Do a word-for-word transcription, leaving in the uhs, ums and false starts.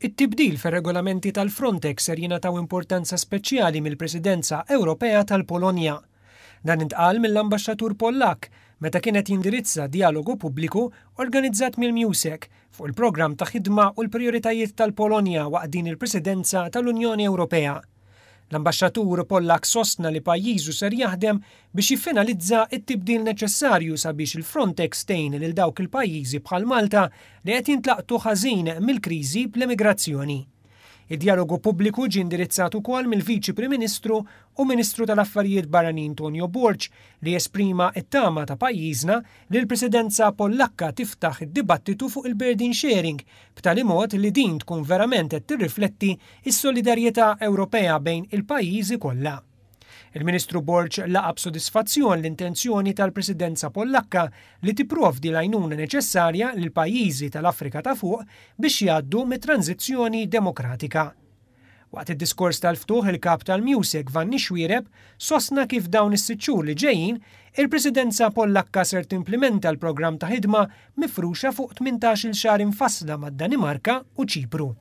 It-tibdil fir-regolamenti tal-Frontex ser jingħataw importanza speċjali mill-Presidenza Ewropea tal-Polonja. Dan intqal mill-Ambaxxatur Pollak meta kien qed jindirizza dialogu pubbliku organizzat mill-MUSEC fuq il-programm ta' ħidma u l-prijoritajiet tal-Polonja waqt din il-Presidenza tal-Unjoni Ewropea. L-Ambaxxatur Pollak sostna li pajjiżu ser jaħdem biex jiffinalizza it-tibdil neċessarju sabiex il-Frontex tgħin lil dawk il-pajjiżi bħal Malta li qed jintlaqtu ħażin mill-kriżi bl-emigrazzjoni. Id-dialogu pubbliku ġie indirizzat ukoll mill-Viċi Prim Ministru u Ministru tal-Affarijiet Barranin Tonio Borg, li esprima it-tama ta' pajjiżna li l-Presidenza Pollakka tiftaħ id-dibattitu fuq il-burden sharing b'tali mod li din tkun verament qed tirrifletti s-solidarjetà Ewropea bejn il-pajjiżi kollha. Il-Ministru Borg laqa' b'sodisfazzjon l-intenzjoni tal-Presidenza Pollakka li tipprovdi l-għajnuna neċessarja lil pajjiżi tal-Afrika ta' Fuq biex jgħaddu mit-tranzizzjoni demokratika. Waqt id-diskors tal-ftuħ, il-kap tal-MUSEC Vanni Xuereb sostna kif dawn is-sitt xhur li ġejjin il-Presidenza Pollakka ser timplementa l-programm ta' ħidma mifruxa fuq tmintax-il xahar infassla mad-Danimarka u Ċipru.